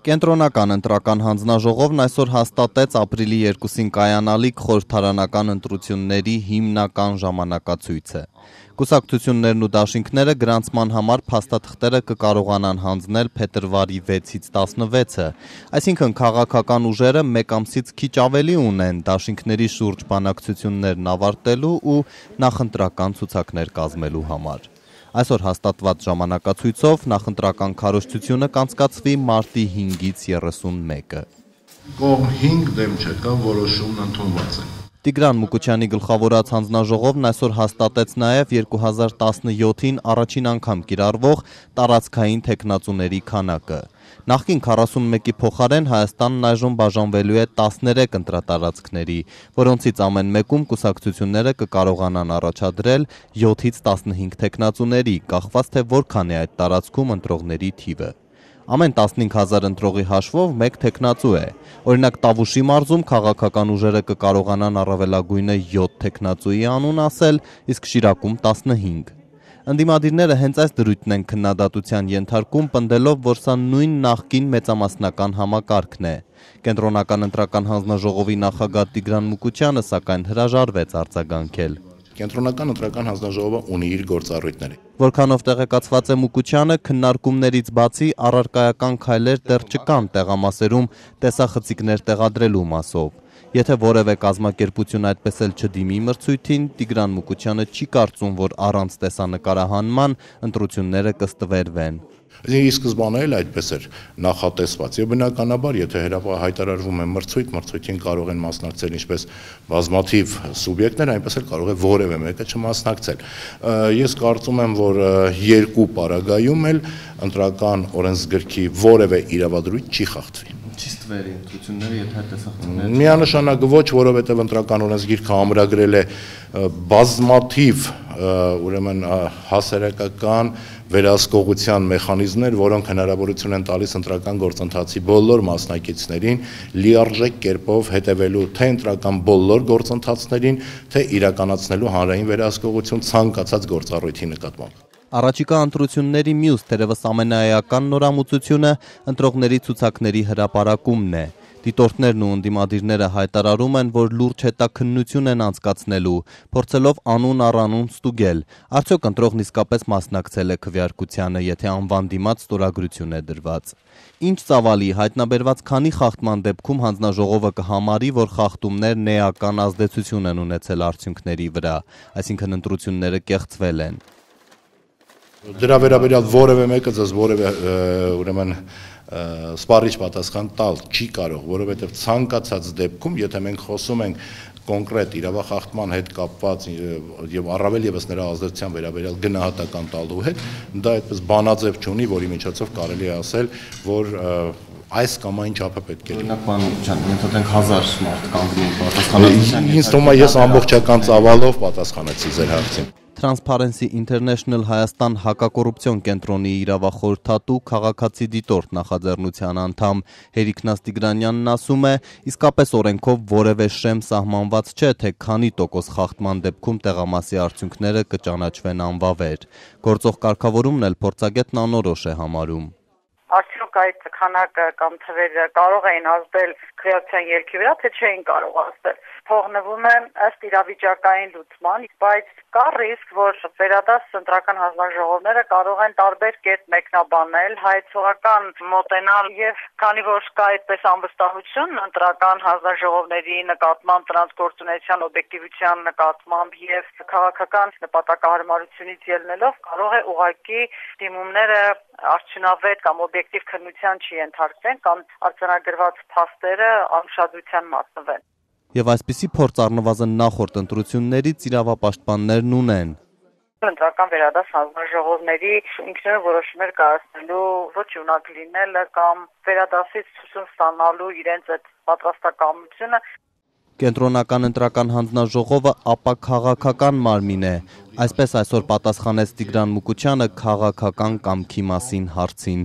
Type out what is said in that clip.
Կենտրոնական ընտրական հանձնաժողովն այսօր հաստատեց ապրիլի 2-ին կայանալիք խորհրդարանական ընտրությունների հիմնական ժամանակացույցը։ Կուսակցություններն ու դաշինքները գրանցման համար փաստաթղթերը կկարողանան հանձնել փետրվարի 6-ից 16-ը, այսինքն քաղաքական ուժերը մեկ ամսից քիչ ավելի ունեն դաշինքների շուրջ բանակցություններն ավարտելու ու նախընտրական ցուցակներ կազմելու համար։ Այսօր հաստատված ժամանակացույցով նախընտրական քարոզչությունը կանցկացվի մարտի 5-ից 31-ը։ Կողմ 5 դեմ չկա, որոշումն ընդունված է։ Տիգրան Մուկուչյանի գլխավորած հանձնաժողովն այսօր հաստատեց նաև 2017-ին առաջին անգամ կիրառվող տարածքային թեկնածուների քանակը։ Նախկին 41-ի փոխարեն Հայաստանն այժմ բաժանվելու է 13 ընտրատարածքների, որոնցից ամեն մեկում կուսակցությունները կկարողանան առաջադրել 7-ից 15 թեկնածուների, կախված թե որքան է այդ տարածքում ընտրողների թիվը։ Ամեն 15,000 ընտրողի հաշվով մեկ թեկնածու է։ Օրինակ Տավուշի մարզում քաղաքական ուժերը կկարողանան առավելագույնը 7 թեկնածուի անուն ասել, իսկ Շիրակում 15։ Ընդդիմադիրները հենց այս դրույթն են քննադատության ենթարկում, պնդելով, որ սա նույն նախկին մեծամասնական համակարգն է։ Կենտրոնական ընտրական հանձնաժողովի նախագահ Տիգրան Մուկուչյանը սակայն հրաժարվեց արձագանքել։ Կենտրոնական ընտրական հանձնաժողովը ունի իր գործառույթները։ Որքանով տեղեկացված է Մուկուչյանը, քննարկումներից բացի առարկայական քայլեր դեռ չկան տեղամասերում տեսախցիկներ տեղադրելու մասով։ Եթե որևէ կազմակերպություն այդպես էլ չդիմի մրցույթին, Տիգրան Մուկուչյանը չի կարծում, որ առանց տեսանկարահանման ընտրությունները կստվերվեն։ Ի սկզբանե էլ այդպես էր նախատեսված եւ բնականաբար, եթե հայտարարվում է մրցույթին կարող են մասնակցել ինչպես բազմաթիվ սուբյեկտներ, այնպես էլ կարող է որևէ մեկը չմասնակցել։ Ես կարծում եմ, որ երկու պարագայում էլ ընտրական օրենսգրքի որևէ իրավադրույթ չի խախտվի։ Չի ստվերի ընտրությունները, եթե տեսախցիկներ։ Միանշանակ ոչ, որովհետև ընտրական օրենսգիրքը ամրագրել է բազմաթիվ ուրեմն հասարակական վերահսկողության մեխանիզմներ, որոնք հնարավորություն են տալիս ընտրական գործընթացի բոլոր մասնակիցներին լիարժեք կերպով հետևելու թե ընտրական բոլոր գործընթացներին, թե իրականացնելու հանրային վերահսկողություն ցանկացած գործառույթի նկատմամբ։ Առաջիկա ընտրությունների մյուս թերևս ամենաէական նորամուծությունը ընտրողների ցուցակների հրապարակումն է։ Դիտորդներն ու ընդդիմադիրները հայտարարում են, որ լուրջ հետաքննություն են անցկացնելու, փորձելով անուն առ անուն ստուգել, արդյոք ընտրողն իսկապես մասնակցել է քվեարկությանը, եթե անվան դիմաց ստորագրություն է դրված։ Ինչ ծավալի հայտնաբերված քանի խախտման դեպքում հանձնաժողովը կհամարի, որ խախտումներն էական ազդեցություն են ունեցել արդյունքների վրա, այսինքն ընտրությունները կեղծվել են։ Դրա վերաբերյալ որևէ մեկը ձեզ որևէ ուրեմն սպառիչ պատասխան տալ չի կարող, որովհետև ցանկացած դեպքում, եթե մենք խոսում ենք կոնկրետ իրավախախտման հետ կապված եւ առավել եւս նրա ազդեցության վերաբերյալ գնահատական տալու հետ, դա այդպես բանաձև չունի, որի միջոցով կարելի է ասել, որ այս կամ այն չափը պետք է։ Օրինակ բանության, ենթադրենք 1000 մարդ կանգնում պատասխանատվության։ Ինձ թվում է ես ամբողջական ծավալով պատասխանեցի ձեր հարցին։ Transparency International Հայաստան հակակոռուպցիոն կենտրոնի իրավախորհրդատու քաղաքացի դիտորդ նախաձեռնության անդամ Հերիքնաս Տիգրանյանն ասում է, իսկապես օրենքով որևէ շեմ սահմանված չէ, թե քանի տոկոս խախտման դեպքում տեղամասի արդյունքները կճանաչվեն անվավեր։ Գործող կարգավորումն էլ փորձագետն անորոշ է համարում։ Արդյոք այդ քանակը կամ թվերը կարող էին ազդել քվեարկության ելքի վրա, թե չէին կարող ազդել։ Փողնվում է ըստ իրավիճակային լուծման, բայց կա ռիսկ, որ վերադաս ընտրական հանձնաժողովները կարող են տարբեր կերպ մեկնաբանել, հայեցողական մոտենալ եւ քանի որ կա այդպես անվստահություն ընտրական հանձնաժողովների նկատմամբ, տրանսգործունեության օբյեկտիվության նկատմամբ եւ քաղաքական նպատակահարմարությունից ելնելով կարող է ուղղակի դիմումները արդյունավետ կամ օբյեկտիվ քննության չի ենթարկվեն կամ արձանագրված փաստերը անուշադրության մատնվեն։ Եվ այսպիսի փորձ առնվազն նախորդ ընտրություններից իրավապաշտպաններն ունեն։ Ընտրական վերադաս հանձնաժողովների ինքնուրույն որոշումներ կայացնելու ոչ ունակ լինելը կամ վերադասից ցույց ստանալու իրենց այդ պատրաստակամությունը։ Կենտրոնական ընտրական հանձնաժողովը ապա քաղաքական մարմին է, այսպես այսօր պատասխանեց Տիգրան Մուկուչյանը քաղաքական կամքի մասին հարցին։